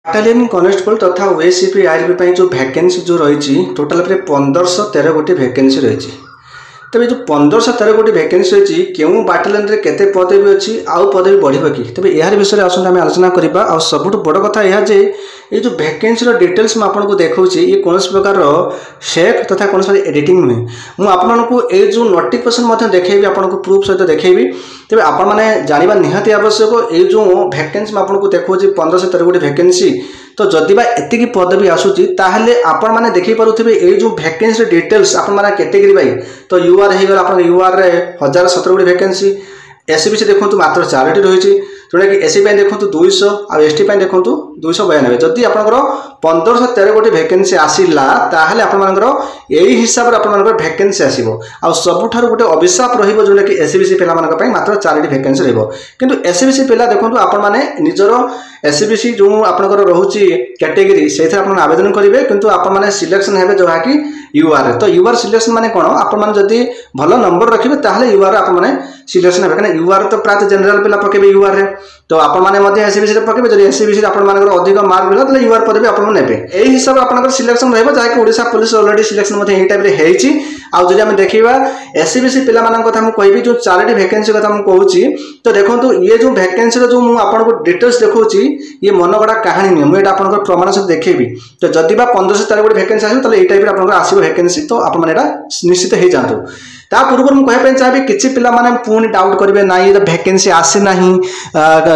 Battalion constable ତଥା ଓଏସିପି ଆଇଆର୍ପି ପାଇଁ ଯେଉଁ ଭ୍ୟାକେନ୍ସି ଯେଉଁ ରହିଛି, ଟୋଟାଲ ଉପରେ 1513 ଗୋଟି ଭ୍ୟାକେନ୍ସି ରହିଛି। ତେବେ ଯେଉଁ 1513 ଗୋଟି ଭ୍ୟାକେନ୍ସି ରହିଛି, କେଉଁ ବାଟାଲିୟନରେ କେତେ ପଦବୀ ଅଛି ଆଉ ପଦବୀ ବଢ଼ିବ କି, ତେବେ ଏହାର ବିଷୟରେ ଆସନ୍ତୁ ଆମେ ଆଲୋଚନା କରିବା। ଆଉ ସବୁଠୁ ବଡ଼ କଥା ଏହା ଯେ ଏଇ ଯେଉଁ ଭ୍ୟାକେନ୍ସିର ଡିଟେଲ୍ସ ମୁଁ ଆପଣଙ୍କୁ ଦେଖାଉଛି, ଇଏ କୌଣସି ପ୍ରକାରର ଫେକ୍ ତଥା କୌଣସି ପ୍ରକାର ଏଡ଼ିଟିଂ ନୁହେଁ। ମୁଁ ଆପଣଙ୍କୁ ଏଇ ଯେଉଁ ନୋଟିଫିକେସନ୍ ମଧ୍ୟ ଦେଖେଇବି, ଆପଣଙ୍କୁ ପ୍ରୁଫ୍ ସହିତ ଦେଖେଇବି। ତେବେ ଆପଣମାନେ ଜାଣିବା ନିହାତି ଆବଶ୍ୟକ, ଏଇ ଯେଉଁ ଭ୍ୟାକେନ୍ସି ମୁଁ ଆପଣଙ୍କୁ ଦେଖାଉଛି 1513 ଗୋଟି ଭ୍ୟାକେନ୍ସି, ତ ଯଦି ବା ଏତିକି ପଦବୀ ଆସୁଛି, ତାହେଲେ ଆପଣମାନେ ଦେଖିପାରୁଥିବେ ଏଇ ଯେଉଁ ଭ୍ୟାକେନ୍ସିର ଡିଟେଲ୍ସ ଆପଣମାନେ କ୍ୟାଟେଗୋରୀ ବାଇ। ତ you ଆର୍ ହେଇଗଲା, ଆପଣଙ୍କ you ଆର୍ରେ 1017 ଗୋଟି ଭ୍ୟାକେନ୍ସି। ଏସ୍ ବି ସି ଦେଖନ୍ତୁ ମାତ୍ର 4ଟି ରହିଛି, ଯେଉଁଟାକି ଏସ୍ ସି ପାଇଁ ଦେଖନ୍ତୁ 200 ଆଉ ଏସ୍ ଟି ପାଇଁ ଦେଖନ୍ତୁ 292। ଯଦି ଆପଣଙ୍କର 1513 ଗୋଟି ଭ୍ୟାକେନ୍ସି ଆସିଲା, ତାହେଲେ ଆପଣମାନଙ୍କର ଏଇ ହିସାବରେ ଆପଣମାନଙ୍କର ଭ୍ୟାକେନ୍ସି ଆସିବ। ଆଉ ସବୁଠାରୁ ଗୋଟେ ଅଭିଶାପ ରହିବ, ଯେଉଁଟାକି ଏସ୍ ବି ସି ପିଲାମାନଙ୍କ ପାଇଁ ମାତ୍ର 4ଟି ଭ୍ୟାକେନ୍ସି ରହିବ। କିନ୍ତୁ ଏସ୍ ବି ସି ପିଲା ଦେଖନ୍ତୁ, ଆପଣମାନେ ନିଜର ଏସ୍ ବି ସି ଯେଉଁ ଆପଣଙ୍କର ରହୁଛି କ୍ୟାଟେଗୋରୀ, ସେଇଥିରେ ଆପଣ ଆବେଦନ କରିବେ, କିନ୍ତୁ ଆପଣମାନେ ସିଲେକ୍ସନ୍ ହେବେ ଯାହାକି you ଆର୍ରେ। ତ you R selection ମାନେ କ'ଣ? ଆପଣମାନେ ଯଦି ଭଲ ନମ୍ବର ରଖିବେ, ତାହେଲେ you ଆର୍ ଆପଣମାନେ ସିଲେକ୍ସନ୍ ହେବେ, କାହିଁକିନା you ଆର୍ ତ ପ୍ରାୟତଃ ଜେନେରାଲ ପିଲା ପକେଇବେ you ଆର୍ରେ। ତ ଆପଣମାନେ ମଧ୍ୟ ଏସ୍ ବି ସିରେ ପକେଇବେ। ଯଦି ଏସ୍ ବି ସିରେ ଆପଣମାନଙ୍କର ଅଧିକ ମାର୍କ ମିଳିଲା, ତାହେଲେ you ଆର୍ ପଦବୀ ଆପଣ ନେବେ। ଏଇ ହିସାବରେ ଆପଣଙ୍କର ସିଲେକ୍ସନ୍ ରହିବ, ଯାହାକି ଓଡ଼ିଶା ପୋଲିସ ଅଲରେଡ଼ି ସିଲେକ୍ସନ୍ ମଧ୍ୟ ଏଇ ଟାଇପ୍ରେ ହେଇଛି। ଆଉ ଯଦି ଆମେ ଦେଖିବା ଏସ୍ ବି ସି ପିଲାମାନଙ୍କ କଥା, ମୁଁ କହିବି ଯେଉଁ 4ଟି ଭ୍ୟାକେନ୍ସି କଥା ମୁଁ କହୁଛି, ତ ଦେଖନ୍ତୁ, ଇଏ ଯେଉଁ ଭ୍ୟାକେନ୍ସିର ଯେଉଁ ମୁଁ ଆପଣଙ୍କୁ ଡିଟେଲ୍ସ ଦେଖାଉଛି, ଇଏ ମନଗଢ଼ା କାହାଣୀ ନୁହେଁ। ମୁଁ ଏଇଟା ଆପଣଙ୍କର ପ୍ରମାଣ ସହିତ ଦେଖେଇବି। ତ ଯଦି ବା 1513 ଗୋଟି ଭ୍ୟାକେନ୍ସି ଆସିବ, ତାହେଲେ ଏଇ ଟାଇପ୍ରେ ଆପଣଙ୍କର ଆସିବ ଭ୍ୟାକେନ୍ସି। ତ ଆପଣମାନେ ଏଇଟା ନିଶ୍ଚିତ ହେଇଯାଆନ୍ତୁ। ତା ପୂର୍ବରୁ ମୁଁ କହିବା ପାଇଁ ଚାହିଁବି, କିଛି ପିଲାମାନେ ପୁଣି ଡାଉଟ୍ କରିବେ, ନାଇଁ ଏ ଭ୍ୟାକେନ୍ସି ଆସିନାହିଁ,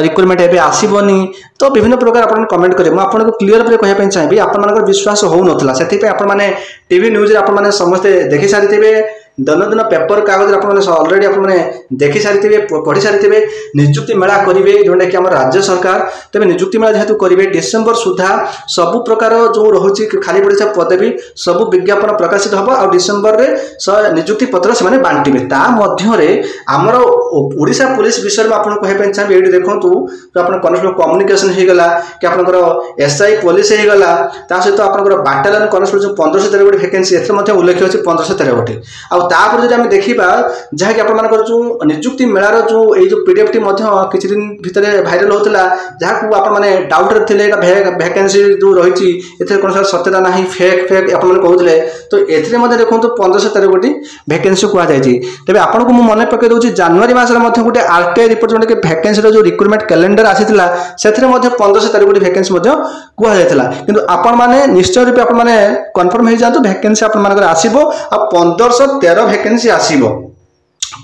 ରିକ୍ରୁଟମେଣ୍ଟ ଏବେ ଆସିବନି, ତ ବିଭିନ୍ନ ପ୍ରକାର ଆପଣ କମେଣ୍ଟ କରିବେ। ମୁଁ ଆପଣଙ୍କୁ କ୍ଲିୟର ଉପରେ କହିବା ପାଇଁ ଚାହିଁବି, ଆପଣମାନଙ୍କର ବିଶ୍ୱାସ ହେଉନଥିଲା, ସେଥିପାଇଁ ଆପଣମାନେ ଟିଭି ନ୍ୟୁଜ୍ରେ ଆପଣମାନେ ସମସ୍ତେ ଦେଖି ସାରିଥିବେ, ଦୈନନ୍ଦିନ ପେପର କାଗଜରେ ଆପଣମାନେ ଅଲରେଡ଼ି ଆପଣମାନେ ଦେଖି ସାରିଥିବେ, ପଢ଼ି ସାରିଥିବେ, ନିଯୁକ୍ତି ମେଳା କରିବେ ଯେଉଁଟାକି ଆମର ରାଜ୍ୟ ସରକାର। ତେବେ ନିଯୁକ୍ତି ମେଳା ଯେହେତୁ କରିବେ, ଡିସେମ୍ବର ସୁଦ୍ଧା ସବୁ ପ୍ରକାର ଯେଉଁ ରହୁଛି ଖାଲି ପଡ଼ିଥିବା ପଦବୀ ସବୁ ବିଜ୍ଞାପନ ପ୍ରକାଶିତ ହେବ ଆଉ ଡିସେମ୍ବରରେ ନିଯୁକ୍ତି ପତ୍ର ସେମାନେ ବାଣ୍ଟିବେ। ତା ମଧ୍ୟରେ ଆମର ଓଡ଼ିଶା ପୋଲିସ ବିଷୟରେ ମୁଁ ଆପଣଙ୍କୁ କହିବା ପାଇଁ ଚାହିଁବି। ଏଇଠି ଦେଖନ୍ତୁ, ଆପଣ କନେଷ୍ଟବଳ କମ୍ୟୁନିକେସନ ହେଇଗଲା କି ଆପଣଙ୍କର ଏସ୍ I police ହେଇଗଲା, ତା ସହିତ ଆପଣଙ୍କର ବାଟାଲିୟନ କନେଷ୍ଟବଳ ଯେଉଁ 1513 ଗୋଟି ଭ୍ୟାକେନ୍ସି, ଏଥିରେ ମଧ୍ୟ ଉଲ୍ଲେଖ ଅଛି 1513 ଗୋଟି। ଆଉ ତାପରେ ଯଦି ଆମେ ଦେଖିବା, ଯାହାକି ଆପଣମାନଙ୍କର ଯେଉଁ ନିଯୁକ୍ତି ମେଳାର ଯେଉଁ ଏଇ ଯେଉଁ ପିଡିଏଫ୍ଟି ମଧ୍ୟ କିଛି ଦିନ ଭିତରେ ଭାଇରାଲ ହେଉଥିଲା, ଯାହାକୁ ଆପଣମାନେ ଡାଉଟ୍ରେ ଥିଲେ, ଏଇଟା ଭ୍ୟାକେନ୍ସି ଯେଉଁ ରହିଛି ଏଥିରେ କୌଣସି ସତ୍ୟତା ନାହିଁ, ଫେକ୍ ଫେକ୍ ଆପଣମାନେ କହୁଥିଲେ, ତ ଏଥିରେ ମଧ୍ୟ ଦେଖନ୍ତୁ 1513 ଗୋଟି ଭ୍ୟାକେନ୍ସି କୁହାଯାଇଛି। ତେବେ ଆପଣଙ୍କୁ ମୁଁ ମନେ ପକାଇ ଦେଉଛି, ଜାନୁଆରୀ ମାସରେ ମଧ୍ୟ ଗୋଟେ ଆରଟିଆଇ ରିପୋର୍ଟ, ଯେଉଁଟାକି ଭ୍ୟାକେନ୍ସିର ଯେଉଁ ରିକ୍ରୁଟମେଣ୍ଟ କ୍ୟାଲେଣ୍ଡର ଆସିଥିଲା, ସେଥିରେ ମଧ୍ୟ 1513 ଗୋଟି ଭ୍ୟାକେନ୍ସି ମଧ୍ୟ କୁହାଯାଇଥିଲା। କିନ୍ତୁ ଆପଣମାନେ ନିଶ୍ଚୟ ରୂପେ ଆପଣମାନେ କନଫର୍ମ ହେଇଯାଆନ୍ତୁ, ଭ୍ୟାକେନ୍ସି ଆପଣମାନଙ୍କର ଆସିବ ଆଉ 1513 ଭ୍ୟାକେନ୍ସି ଆସିବ।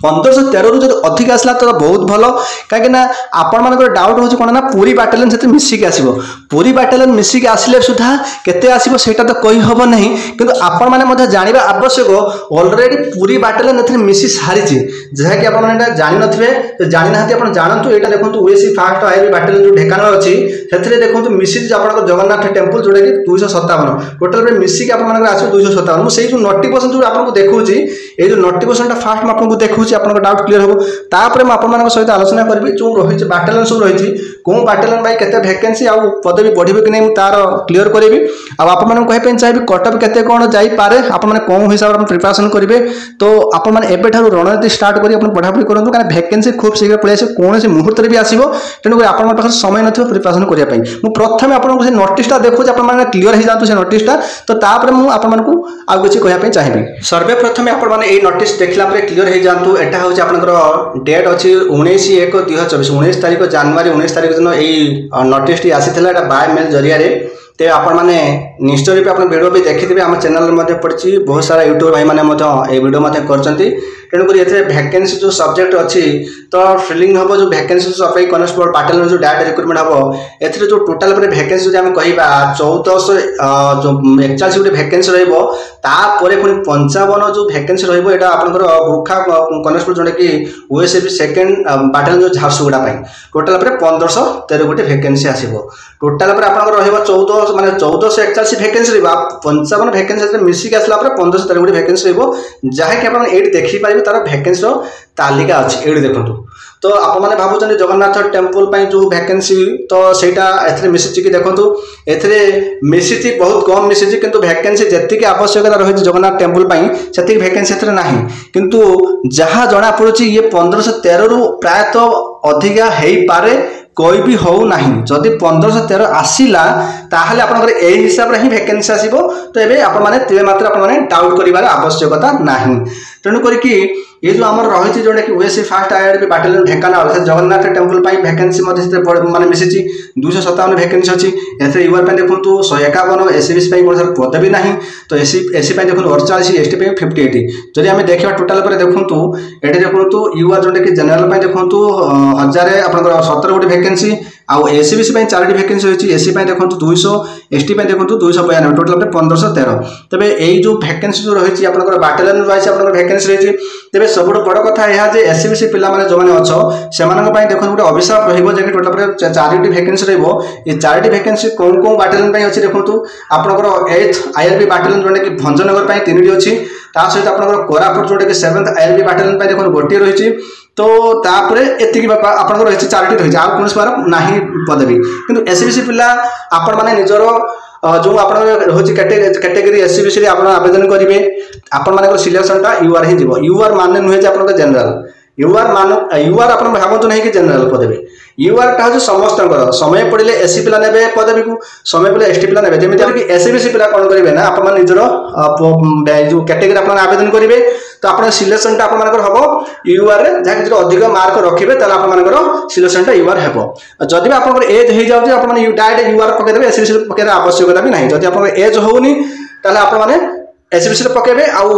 1513ରୁ ଯଦି ଅଧିକ ଆସିଲା ତ ବହୁତ ଭଲ, କାହିଁକିନା ଆପଣମାନଙ୍କର ଡାଉଟ୍ ହେଉଛି କ'ଣ ନା ପୁରୀ ବାଟାଲିୟନ ସେଥିରେ ମିଶିକି ଆସିବ। ପୁରୀ ବାଟାଲିୟନ ମିଶିକି ଆସିଲେ ସୁଦ୍ଧା କେତେ ଆସିବ ସେଇଟା ତ କହିହେବ ନାହିଁ, କିନ୍ତୁ ଆପଣମାନେ ମଧ୍ୟ ଜାଣିବା ଆବଶ୍ୟକ, ଅଲରେଡ଼ି ପୁରୀ ବାଟାଲିୟନ ଏଥିରେ ମିଶି ସାରିଛି, ଯାହାକି ଆପଣମାନେ ଏଇଟା ଜାଣିନଥିବେ। ଜାଣିନାହାନ୍ତି ଆପଣ ଜାଣନ୍ତୁ। ଏଇଟା ଦେଖନ୍ତୁ, ଓଏସି ଫାଷ୍ଟ ଆଇବି ବାଟାଲିୟନ ଯେଉଁ ଢେଙ୍କାନାଳ ଅଛି, ସେଥିରେ ଦେଖନ୍ତୁ ମିଶିଛି ଆପଣଙ୍କ ଜଗନ୍ନାଥ ଟେମ୍ପଲ, ଯେଉଁଟାକି 257। ଟୋଟାଲ ମିଶିକି ଆପଣମାନଙ୍କର ଆସିବ 257। ମୁଁ ସେଇ ଯେଉଁ ନୋଟିଫିକେସନ୍ ଯେଉଁ ଆପଣଙ୍କୁ ଦେଖାଉଛି, ଏଇ ଯେଉଁ ନୋଟିଫିକେସନଟା ଫାଷ୍ଟ ମୁଁ ଆପଣଙ୍କୁ ଦେଖାଉଛି, ଆପଣଙ୍କ ଡାଉଟ୍ କ୍ଲିୟର ହେବ। ତାପରେ ମୁଁ ଆପଣମାନଙ୍କ ସହିତ ଆଲୋଚନା କରିବି ଯେଉଁ ରହିଛି ବାଟାଲିୟନ ସବୁ ରହିଛି, କେଉଁ ବାଟାଲିୟନ ପାଇଁ କେତେ ଭ୍ୟାକେନ୍ସି ଆଉ ପଦବୀ ବଢ଼ିବ କି ନାହିଁ, ମୁଁ ତାର କ୍ଲିୟର କରିବି। ଆଉ ଆପଣମାନଙ୍କୁ କହିବା ପାଇଁ ଚାହିଁବି କଟଅଫ୍ କେତେ କ'ଣ ଯାଇପାରେ, ଆପଣମାନେ କେଉଁ ହିସାବରେ ଆପଣ ପ୍ରିପାରେସନ୍ କରିବେ। ତ ଆପଣମାନେ ଏବେଠାରୁ ରଣନୀତି ଷ୍ଟାର୍ଟ କରି ଆପଣ ପଢ଼ାପଢ଼ି କରନ୍ତୁ, କାରଣ ଭ୍ୟାକେନ୍ସି ଖୁବ୍ ଶୀଘ୍ର ପଳେଇ ଆସିବ, କୌଣସି ମୁହୂର୍ତ୍ତରେ ବି ଆସିବ। ତେଣୁକରି ଆପଣଙ୍କ ପାଖରେ ସମୟ ନଥିବ ପ୍ରିପାରେସନ୍ କରିବା ପାଇଁ। ମୁଁ ପ୍ରଥମେ ଆପଣଙ୍କୁ ସେ ନୋଟିସଟା ଦେଖୁଛି, ଆପଣମାନେ କ୍ଲିୟର ହେଇଯାଆନ୍ତୁ ସେ ନୋଟିସଟା, ତ ତାପରେ ମୁଁ ଆପଣମାନଙ୍କୁ ଆଉ କିଛି କହିବା ପାଇଁ ଚାହିଁବି। ସର୍ବେ ପ୍ରଥମେ ଆପଣମାନେ ଏଇ ନୋଟିସ୍ ଦେଖିଲା ପରେ କ୍ଲିୟର ହେଇଯାଆନ୍ତୁ। ଏଟା ହେଉଛି ଆପଣଙ୍କର ଡେଟ୍ ଅଛି 19/1/2024, 19 ତାରିଖ ଜାନୁଆରୀ, 19 ତାରିଖ ଦିନ ଏଇ ନୋଟିସଟି ଆସିଥିଲା, ଏଇଟା ବାୟ ମେଲ୍ ଜରିଆରେ। ତେବେ ଆପଣମାନେ ନିଶ୍ଚୟ ରୂପେ ଆପଣ ଭିଡ଼ିଓ ବି ଦେଖିଥିବେ, ଆମ ଚ୍ୟାନେଲରେ ମଧ୍ୟ ପଡ଼ିଛି, ବହୁତ ସାରା ୟୁଟ୍ୟୁବ୍ ଭାଇମାନେ ମଧ୍ୟ ଏଇ ଭିଡ଼ିଓ ମଧ୍ୟ କରିଛନ୍ତି। ତେଣୁକରି ଏଥିରେ ଭ୍ୟାକେନ୍ସି ଯେଉଁ ସବଜେକ୍ଟ ଅଛି, ତ ଫିଲିଂ ହେବ ଯେଉଁ ଭ୍ୟାକେନ୍ସି ସଫେଇ କନେଷ୍ଟବଳ ବାଟାଲିୟନ ଯେଉଁ ଡାଇରେକ୍ଟ ରିକ୍ରୁଟମେଣ୍ଟ ହେବ, ଏଥିରେ ଯେଉଁ ଟୋଟାଲ ଉପରେ ଭ୍ୟାକେନ୍ସି ଯଦି ଆମେ କହିବା, 1441 ଗୋଟେ ଭ୍ୟାକେନ୍ସି ରହିବ। ତାପରେ ପୁଣି 55 ଯେଉଁ ଭ୍ୟାକେନ୍ସି ରହିବ, ଏଇଟା ଆପଣଙ୍କର ଗୁର୍ଖା କନେଷ୍ଟବଳ, ଯେଉଁଟାକି ଓଏସ୍ଏବି ସେକେଣ୍ଡ ବାଟାଲିୟନ ଯେଉଁ ଝାରସୁଗୁଡ଼ା ପାଇଁ। ଟୋଟାଲ ଉପରେ 1513 ଗୋଟି ଭ୍ୟାକେନ୍ସି ଆସିବ। ଟୋଟାଲ ଉପରେ ଆପଣଙ୍କର ରହିବ 14, ମାନେ 1441 ଭ୍ୟାକେନ୍ସି ରହିବ, 55 ଭ୍ୟାକେନ୍ସି ସେଥିରେ ମିଶିକି ଆସିଲା ପରେ 1513 ଗୋଟି ଭ୍ୟାକେନ୍ସି ରହିବ, ଯାହାକି ଆପଣ ଏଇଠି ଦେଖିପାରିବେ, ତାର ଭ୍ୟାକେନ୍ସିର ତାଲିକା ଅଛି ଏଇଠି ଦେଖନ୍ତୁ। ତ ଆପଣମାନେ ଭାବୁଛନ୍ତି ଜଗନ୍ନାଥ ଟେମ୍ପଲ ପାଇଁ ଯେଉଁ ଭ୍ୟାକେନ୍ସି, ତ ସେଇଟା ଏଥିରେ ମିଶିଛି କି? ଦେଖନ୍ତୁ, ଏଥିରେ ମିଶିଛି, ବହୁତ କମ୍ ମିଶିଛି, କିନ୍ତୁ ଭ୍ୟାକେନ୍ସି ଯେତିକି ଆବଶ୍ୟକତା ରହିଛି ଜଗନ୍ନାଥ ଟେମ୍ପଲ ପାଇଁ, ସେତିକି ଭ୍ୟାକେନ୍ସି ଏଥିରେ ନାହିଁ। କିନ୍ତୁ ଯାହା ଜଣାପଡ଼ୁଛି, ଇଏ 1513ରୁ ପ୍ରାୟତଃ ଅଧିକା ହେଇପାରେ, କହି ବି ହେଉନାହିଁ। ଯଦି 1513 ଆସିଲା, ତାହେଲେ ଆପଣଙ୍କର ଏଇ ହିସାବରେ ହିଁ ଭ୍ୟାକେନ୍ସି ଆସିବ। ତ ଏବେ ଆପଣମାନେ ତିଳେ ମାତ୍ର ଆପଣମାନେ ଡାଉଟ୍ କରିବାର ଆବଶ୍ୟକତା ନାହିଁ। ତେଣୁ କରିକି ଏ ଯେଉଁ ଆମର ରହିଛି, ଯେଉଁଟାକି ଓଏସସି ଫାଷ୍ଟ ଆଇଆରବି ବାଟାଲିୟନ ଢେଙ୍କାନାଳ, ସେ ଜଗନ୍ନାଥ ଟେମ୍ପଲ ପାଇଁ ଭ୍ୟାକେନ୍ସି ମଧ୍ୟ ସେଥିରେ ମାନେ ମିଶିଛି। 257 ଭ୍ୟାକେନ୍ସି ଅଛି ଏଥିରେ। Your ପାଇଁ ଦେଖନ୍ତୁ 151, ଏସ୍ ବି ସି ପାଇଁ କୌଣସି ପଦବୀ ନାହିଁ। ତ ଏସ୍ ସି ପାଇଁ ଦେଖନ୍ତୁ 48, ଏସ୍ ଟି ପାଇଁ 58। ଯଦି ଆମେ ଦେଖିବା ଟୋଟାଲ ପରେ ଦେଖନ୍ତୁ, ଏଠି ଦେଖନ୍ତୁ your ଯେଉଁଟାକି ଜେନେରାଲ ପାଇଁ ଦେଖନ୍ତୁ 1000 ଆପଣଙ୍କର 17 ଗୋଟି ଭ୍ୟାକେନ୍ସି, ଆଉ ଏସ୍ ବି ସି ପାଇଁ ଚାରୋଟି ଭ୍ୟାକେନ୍ସି ରହିଛି। ଏସ୍ ସି ପାଇଁ ଦେଖନ୍ତୁ 200, ଏସ୍ ଟି ପାଇଁ ଦେଖନ୍ତୁ 292, ଟୋଟାଲ ଉପରେ 1513। ତେବେ ଏଇ ଯେଉଁ ଭ୍ୟାକେନ୍ସି ଯେଉଁ ରହିଛି ଆପଣଙ୍କର ବାଟାଲିୟନ ୱାଇଜ୍ ଆପଣଙ୍କର ଭ୍ୟାକେନ୍ସି ରହିଛି। ତେବେ ସବୁଠୁ ବଡ଼ କଥା ଏହା ଯେ ଏସ୍ ବି ସି ପିଲାମାନେ ଯେଉଁମାନେ ଅଛ, ସେମାନଙ୍କ ପାଇଁ ଦେଖନ୍ତୁ ଗୋଟେ ଅଭିଶାପ ରହିବ ଯେ କି ଟୋଟାଲ ଉପରେ ଚାରିଟି ଭ୍ୟାକେନ୍ସି ରହିବ। ଏ ଚାରିଟି ଭ୍ୟାକେନ୍ସି କେଉଁ କେଉଁ ବାଟାଲିୟନ ପାଇଁ ଅଛି ଦେଖନ୍ତୁ, ଆପଣଙ୍କର ଏଇଥ ଆଇଆରବି ବାଟାଲିୟନ ଯେଉଁଟାକି ଭଞ୍ଜନଗର ପାଇଁ ତିନିଟି ଅଛି। ତା ସହିତ ଆପଣଙ୍କର କୋରାପୁଟ ଯେଉଁଟାକି ସେଭେନ୍ଥ ଆଇଆରବି ବାଟାଲିୟନ ପାଇଁ ଦେଖନ୍ତୁ ଗୋଟିଏ ରହିଛି। ତ ତାପରେ ଏତିକି ଆପଣଙ୍କର ରହିଛି, ଚାରିଟି ରହିଛି, ଆଉ କୌଣସି ପ୍ରକାର ନାହିଁ ପଦବୀ। କିନ୍ତୁ ଏସ୍ ବି ସି ପିଲା ଆପଣମାନେ ନିଜର ଯେଉଁ ଆପଣଙ୍କର ରହୁଛି କ୍ୟାଟେଗୋରୀ ଏସ୍ ବି ସିରେ ଆପଣ ଆବେଦନ କରିବେ। ଆପଣମାନଙ୍କର ସିଲେକ୍ସନଟା you ଆର୍ ହିଁ ଯିବ। You ଆର୍ ମାନେ ନୁହେଁ ଯେ ଆପଣଙ୍କ ଜେନେରାଲ। You ଆର୍ ମାନ you ଆର୍ ଆପଣ ଭାବନ୍ତୁ ନାହିଁ କି ଜେନେରାଲ ପଦବୀ। You ଆର୍ଟା ହେଉଛି ସମସ୍ତଙ୍କର। ସମୟ ପଡ଼ିଲେ ଏସ୍ ସି ପିଲା ନେବେ ପଦବୀକୁ, ସମୟ ପଡ଼ିଲେ ଏସ୍ ଟି ପିଲା ନେବେ। ଯେମିତି ଏସ୍ ବି ସି ପିଲା କ'ଣ କରିବେ ନା, ଆପଣମାନେ ନିଜର ଯେଉଁ କ୍ୟାଟେଗୋରୀ ଆପଣ ଆବେଦନ କରିବେ, ତ ଆପଣ ସିଲେକ୍ସନଟା ଆପଣମାନଙ୍କର ହେବ you ଆର୍ରେ। ଯାହାକି ଯଦି ଅଧିକ ମାର୍କ ରଖିବେ, ତାହେଲେ ଆପଣମାନଙ୍କର ସିଲେକ୍ସନଟା you ଆର୍ ହେବ। ଯଦି ବି ଆପଣଙ୍କର ଏଜ୍ ହେଇଯାଉଛି, ଆପଣମାନେ ଡାଇରେକ୍ଟ you ଆର୍ ପକାଇଦେବେ, ଏସ୍ ବି ସି ପକାଇବାର ଆବଶ୍ୟକତା ବି ନାହିଁ। ଯଦି ଆପଣଙ୍କର ଏଜ୍ ହେଉନି, ତାହେଲେ ଆପଣମାନେ ଏସ୍ ବି ସିରେ ପକାଇବେ ଆଉ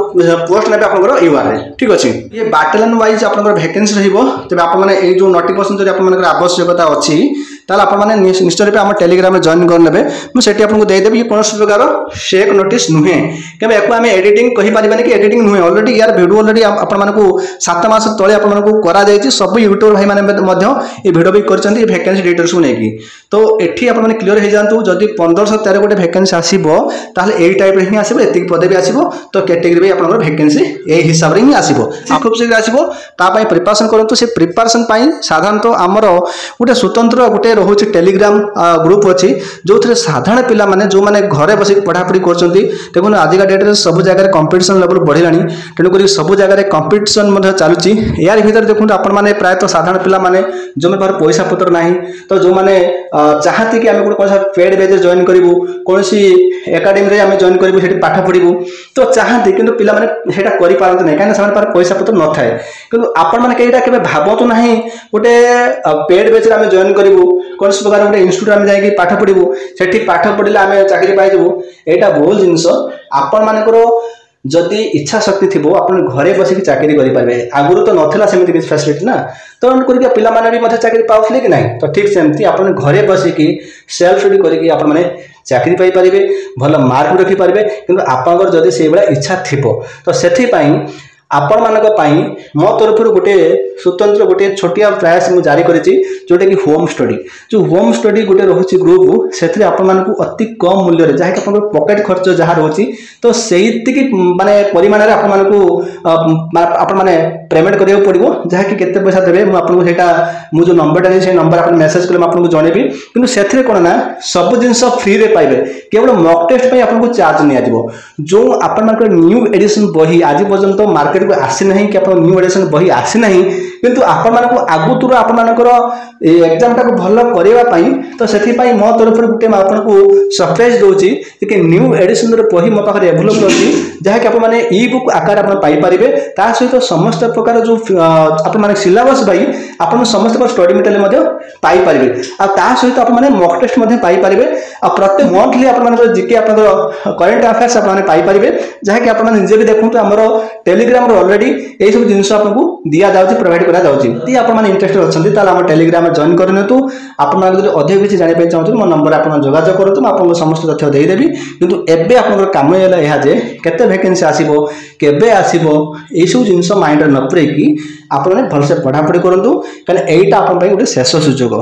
ପୋଷ୍ଟ ନେବେ ଆପଣଙ୍କର you ଆର୍ରେ। ଠିକ୍ ଅଛି, ଇଏ ବାଟାଲିୟନ ୱାଇଜ୍ ଆପଣଙ୍କର ଭ୍ୟାକେନ୍ସି ରହିବ। ତେବେ ଆପଣମାନେ ଏଇ ଯେଉଁ ନୋଟିଫିକେସନ୍ ଯଦି ଆପଣମାନଙ୍କର ଆବଶ୍ୟକତା ଅଛି, ତାହେଲେ ଆପଣମାନେ ନିଶ୍ଚୟ ରୂପେ ଆମ ଟେଲିଗ୍ରାମରେ ଜଏନ୍ କରିନେବେ। ମୁଁ ସେଠି ଆପଣଙ୍କୁ ଦେଇଦେବି। ଇଏ କୌଣସି ପ୍ରକାର ଫେକ୍ ନୋଟିସ୍ ନୁହେଁ, କିମ୍ବା ୟାକୁ ଆମେ ଏଡିଟିଂ କହିପାରିବାନି କି ଏଡିଟିଂ ନୁହେଁ। ଅଲରେଡ଼ି ୟାର ଭିଡ଼ିଓ ଅଲରେଡ଼ି ଆପଣମାନଙ୍କୁ 7 ମାସ ତଳେ ଆପଣମାନଙ୍କୁ କରାଯାଇଛି। ସବୁ ୟୁଟ୍ୟୁବର ଭାଇମାନେ ମଧ୍ୟ ଏ ଭିଡ଼ିଓ ବି କରିଛନ୍ତି ଏ ଭ୍ୟାକେନ୍ସି ଡିଟେଲ୍ସକୁ ନେଇକି। ତ ଏଠି ଆପଣମାନେ କ୍ଲିୟର ହେଇଯାଆନ୍ତୁ, ଯଦି 1513 ଗୋଟେ ଭ୍ୟାକେନ୍ସି ଆସିବ, ତାହେଲେ ଏଇ ଟାଇପ୍ର ହିଁ ଆସିବ, ଏତିକି ପଦବୀ ଆସିବ। ତ କ୍ୟାଟେଗୋରୀ ବି ଆପଣଙ୍କର ଭ୍ୟାକେନ୍ସି ଏଇ ହିସାବରେ ହିଁ ଆସିବ, ଖୁବ୍ ଶୀଘ୍ର ଆସିବ। ତା ପାଇଁ ପ୍ରିପାରେସନ୍ କରନ୍ତୁ। ସେ ପ୍ରିପାରେସନ୍ ପାଇଁ ସାଧାରଣତଃ ଆମର ଗୋଟେ ସ୍ୱତନ୍ତ୍ର ଗୋଟେ ରହୁଛି ଟେଲିଗ୍ରାମ ଗ୍ରୁପ୍ ଅଛି, ଯେଉଁଥିରେ ସାଧାରଣ ପିଲାମାନେ ଯେଉଁମାନେ ଘରେ ବସିକି ପଢ଼ାପଢ଼ି କରୁଛନ୍ତି। ଦେଖନ୍ତୁ, ଆଜିକା ଡେଟ୍ରେ ସବୁ ଜାଗାରେ କମ୍ପିଟିସନ୍ ଲେଭେଲ୍ ବଢ଼ିଲାଣି, ତେଣୁକରି ସବୁ ଜାଗାରେ କମ୍ପିଟିସନ୍ ମଧ୍ୟ ଚାଲୁଛି। ଏହାରି ଭିତରେ ଦେଖନ୍ତୁ, ଆପଣମାନେ ପ୍ରାୟତଃ ସାଧାରଣ ପିଲାମାନେ ଯେଉଁମାନେ ପାଖରେ ପଇସା ପତ୍ର ନାହିଁ, ତ ଯେଉଁମାନେ ଚାହାନ୍ତି କି ଆମେ ଗୋଟେ କୌଣସି ପେଡ୍ ବେଜ୍ରେ ଜଏନ୍ କରିବୁ, କୌଣସି ଏକାଡେମୀରେ ଆମେ ଜଏନ୍ କରିବୁ, ସେଠି ପାଠ ପଢ଼ିବୁ, ତ ଚାହାନ୍ତି, କିନ୍ତୁ ପିଲାମାନେ ସେଇଟା କରିପାରନ୍ତି ନାହିଁ, କାହିଁକିନା ସେମାନଙ୍କ ପାଖରେ ପଇସା ପତ୍ର ନଥାଏ। କିନ୍ତୁ ଆପଣମାନେ କେଇଟା କେବେ ଭାବନ୍ତୁ ନାହିଁ, ଗୋଟେ ପେଡ୍ ବେଚ୍ରେ ଆମେ ଜଏନ୍ କରିବୁ, କୌଣସି ପ୍ରକାର ଗୋଟେ ଇନଷ୍ଟିଟ୍ୟୁଟ୍ ଆମେ ଯାଇକି ପାଠ ପଢ଼ିବୁ, ସେଠି ପାଠ ପଢ଼ିଲେ ଆମେ ଚାକିରି ପାଇଯିବୁ, ଏଇଟା ଭୁଲ ଜିନିଷ। ଆପଣମାନଙ୍କର ଯଦି ଇଚ୍ଛା ଶକ୍ତି ଥିବ, ଆପଣ ଘରେ ବସିକି ଚାକିରି କରିପାରିବେ। ଆଗରୁ ତ ନଥିଲା ସେମିତି କିଛି ଫ୍ୟାସିଲିଟି ନା, ତେଣୁ କରିକି ପିଲାମାନେ ବି ମଧ୍ୟ ଚାକିରି ପାଉଥିଲେ କି ନାହିଁ? ତ ଠିକ୍ ସେମିତି ଆପଣ ଘରେ ବସିକି ସେଲ୍ଫ ଷ୍ଟଡି କରିକି ଆପଣମାନେ ଚାକିରି ପାଇପାରିବେ, ଭଲ ମାର୍କ ରଖିପାରିବେ, କିନ୍ତୁ ଆପଣଙ୍କର ଯଦି ସେଇଭଳିଆ ଇଚ୍ଛା ଥିବ। ତ ସେଥିପାଇଁ ଆପଣମାନଙ୍କ ପାଇଁ ମୋ ତରଫରୁ ଗୋଟେ ସ୍ୱତନ୍ତ୍ର ଗୋଟିଏ ଛୋଟିଆ ପ୍ରୟାସ ମୁଁ ଜାରି କରିଛି, ଯେଉଁଟାକି ହୋମ୍ ଷ୍ଟଡି। ଯେଉଁ ହୋମ୍ ଷ୍ଟଡି ଗୋଟେ ରହୁଛି ଗ୍ରୁପ୍, ସେଥିରେ ଆପଣମାନଙ୍କୁ ଅତି କମ୍ ମୂଲ୍ୟରେ, ଯାହାକି ଆପଣଙ୍କର ପକେଟ୍ ଖର୍ଚ୍ଚ ଯାହା ରହୁଛି, ତ ସେଇତିକି ମାନେ ପରିମାଣରେ ଆପଣମାନଙ୍କୁ ଆପଣମାନେ ପେମେଣ୍ଟ କରିବାକୁ ପଡ଼ିବ। ଯାହାକି କେତେ ପଇସା ଦେବେ, ମୁଁ ଆପଣଙ୍କୁ ସେଇଟା ମୁଁ ଯେଉଁ ନମ୍ବରଟା ଦେଇଛି, ସେଇ ନମ୍ବର ଆପଣ ମେସେଜ କଲେ ମୁଁ ଆପଣଙ୍କୁ ଜଣେଇବି। କିନ୍ତୁ ସେଥିରେ କ'ଣ ନା, ସବୁ ଜିନିଷ ଫ୍ରିରେ ପାଇବେ, କେବଳ ମକ୍ ଟେଷ୍ଟ ପାଇଁ ଆପଣଙ୍କୁ ଚାର୍ଜ ନିଆଯିବ। ଯେଉଁ ଆପଣମାନଙ୍କର ନ୍ୟୁ ଏଡିସନ୍ ବହି ଆଜି ପର୍ଯ୍ୟନ୍ତ ମାର୍କେଟକୁ ଆସିନାହିଁ କି ଆପଣ ନ୍ୟୁ ଏଡିସନ୍ ବହି ଆସିନାହିଁ, କିନ୍ତୁ ଆପଣମାନଙ୍କୁ ଆଗତୁରା ଆପଣମାନଙ୍କର ଏ ଏକ୍ଜାମଟାକୁ ଭଲ କରିବା ପାଇଁ, ତ ସେଥିପାଇଁ ମୋ ତରଫରୁ ଗୋଟେ ମୁଁ ଆପଣଙ୍କୁ ସରପ୍ରାଇଜ୍ ଦେଉଛି କି ନ୍ୟୁ ଏଡିସନ୍ର ବହି ମୋ ପାଖରେ ଆଭେଲେବଲ୍ ଅଛି, ଯାହାକି ଆପଣମାନେ ଇ ବୁକ୍ ଆକାରରେ ଆପଣ ପାଇପାରିବେ। ତା ସହିତ ସମସ୍ତ ପ୍ରକାର ଯେଉଁ ଆପଣମାନେ ସିଲାବସ୍ ବାଇ ଆପଣ ସମସ୍ତ ପ୍ରକାର ଷ୍ଟଡି ମେଟେରିଆଲ ମଧ୍ୟ ପାଇପାରିବେ, ଆଉ ତା ସହିତ ଆପଣମାନେ ମକ୍ ଟେଷ୍ଟ ମଧ୍ୟ ପାଇପାରିବେ, ଆଉ ପ୍ରତ୍ୟେକ ମନ୍ଥଲି ଆପଣମାନଙ୍କର ଜିକେ, ଆପଣଙ୍କର କରେଣ୍ଟ ଆଫେୟାର୍ସ ଆପଣମାନେ ପାଇପାରିବେ। ଯାହାକି ଆପଣମାନେ ନିଜେ ବି ଦେଖନ୍ତୁ, ଆମର ଟେଲିଗ୍ରାମର ଅଲରେଡ଼ି ଏଇସବୁ ଜିନିଷ ଆପଣଙ୍କୁ ଦିଆଯାଉଛି, ପ୍ରୋଭାଇଡ଼ କରାଯାଉଛି। ଯଦି ଆପଣମାନେ ଇଣ୍ଟରେଷ୍ଟେଡ୍ ଅଛନ୍ତି, ତାହେଲେ ଆମ ଟେଲିଗ୍ରାମରେ ଜଏନ୍ କରିନିଅନ୍ତୁ। ଆପଣମାନେ ଯଦି ଅଧିକ କିଛି ଜାଣିବା ପାଇଁ ଚାହୁଁଛନ୍ତି, ମୋ ନମ୍ବରରେ ଆପଣ ଯୋଗାଯୋଗ କରନ୍ତୁ, ମୁଁ ଆପଣଙ୍କୁ ସମସ୍ତ ତଥ୍ୟ ଦେଇଦେବି। କିନ୍ତୁ ଏବେ ଆପଣଙ୍କର କାମ ହେଲା ଏହା ଯେ କେତେ ଭ୍ୟାକେନ୍ସି ଆସିବ, କେବେ ଆସିବ, ଏଇସବୁ ଜିନିଷ ମାଇଣ୍ଡରେ ନ ପୁରେଇକି ଆପଣମାନେ ଭଲସେ ପଢ଼ାପଢ଼ି କରନ୍ତୁ, କାରଣ ଏଇଟା ଆପଣଙ୍କ ପାଇଁ ଗୋଟେ ଶେଷ ସୁଯୋଗ।